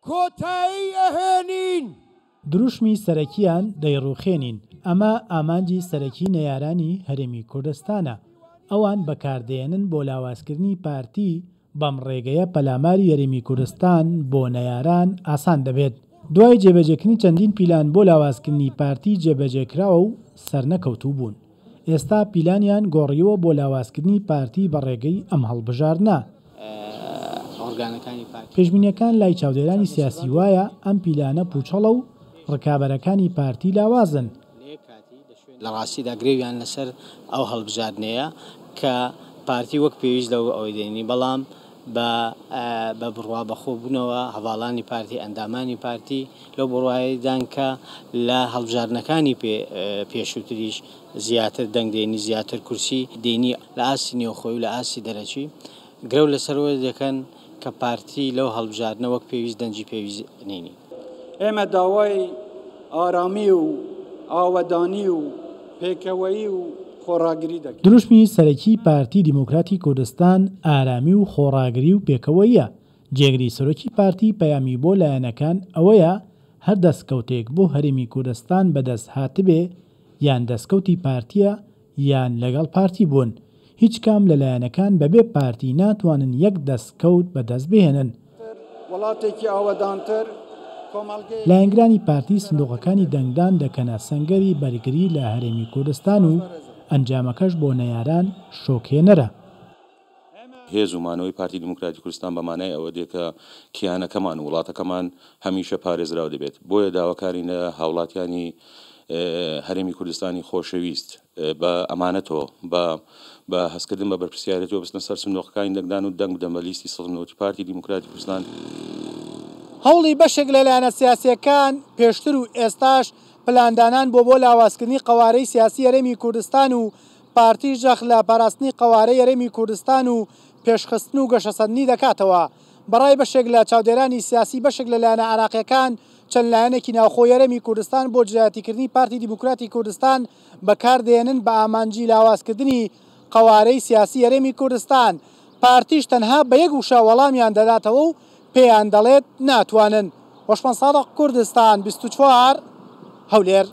کۆتایی ئەهێنین. دروشمی سەرەکییان دەیڕوخێنین، ئەمە ئامانجی سەرەکی نەیارانی هەرێمی کوردستانە، ئەوان بەکاردەیەنن بۆ لاوازکردنی پارتی، بەم ڕێگەیە پەلاماری هەرێمی کوردستان بۆ نەیاران ئاسان دەبێت. دوای جێبەجێکردنی چەندین پیلان بۆ لاوازکردنی پارتی جێبەجێکراوە و سەرنەکەوتوو بوون. ئێستا پیلانیان گۆڕیوە بۆ لاوازکردنی پارتی بە ڕێگەی ئەم هەڵبژاردنە. پێشبینیەکان لای چاودێرانی سیاسی وایە ئەم پیلانە پوچەڵە و ڕکابەرەکانی پارتی لاوازن. لە ڕاستیدا گرەویان لەسەر ئەو هەڵبژاردنەیە کە پارتی وەک پێویست لەو ئەوەی دێنی، بەڵام بە بە بڕوا بەخۆبوونەوە هەڤاڵانی پارتی، ئەندامانی پارتی لەو بڕوایەدان کە لە هەڵبژاردنەکانی پێ پێشووتریش زیاتر دەنگ دێنی، زیاتر کورسی دێنی. لە ئاستی نێوخۆی و لە ئاستی دەرەکی گرەو لەسەر ئەوە دەکەن کە پارتی لەو هەڵبژاردنە وەک پێویست دەنگی پێویست نینی. ئێمە داوای ئارامی و ئاوەدانی و پێکەوەیی و خۆڕاگری دەکەین. دروشمی سەرەکیی پارتی دیموکراتی کوردستان ئارامی و خۆڕاگری و پێکەوەییە، جێگری سەرۆکی پارتی پەیامی بۆ لایەنەکان ئەوەیە هەر دەستکەوتێک بۆ هەرێمی کوردستان بەدەست هاتبێ یان دەستکەوتی پارتییە یان لەگەڵ پارتی بوون، هیچ کام لە لایەنەکان بەبێ پارتی ناتوانن یەک دەستکەوت بەدەست بهێنن. لایەنگرانی پارتی سندوقەکانی دەنگدان دەکەنە سەنگەری بەرگری لە هەرێمی کوردستان و ئەنجامەکەش بۆ نەیاران شۆکهێنەرە. هێز و مانەوەی پارتی دیموکراتی کوردستان بە مانای ئەوە دێ کە کیانەکەمان و وڵاتەکەمان هەمیشە پارێزراو دەبێت. بۆیە داواکارین لە هاوڵاتیانی هەرێمی کوردستانی خۆشەویست بە ئەمانەتەوە، بە بە هەستکردن بە بەرپرسیارێتیەوە بچنە سەر سندوقەکانی دەنگدان و دەنگ بدەن بە لیستی 190 پارتی دیموکراتی کوردستان. هەوڵی بەشێک لە لایەنە سیاسییەکان پێشتر و ئێستاش پلاندانان بووە بۆ لاوازکردنی قەوارەی سیاسی هەرێمی کوردستان و پارتیش جەخت لە پاراستنی قەوارەی هەرێمی کوردستان و پێشخستن و گەشەسەندنی دەکاتەوە. بەڕای بەشێک لە چاودێرانی سیاسی بەشێک لە لایەنە عێراقییەکان چەند لایەنێکی ناوخۆی هەرێمی کوردستان بۆ دژایەتیکردنی پارتی دیموکراتی کوردستان بەکاردێنن بە ئامانجی لاوازکردنی قەوارەی سیاسی هەرێمی کوردستان، پارتیش تەنها بە یەک وشە وەڵامیان دەداتەوە و پێیان دەڵێت ناتوانن. هۆشمەند سادق، کوردستان 24، هەولێر.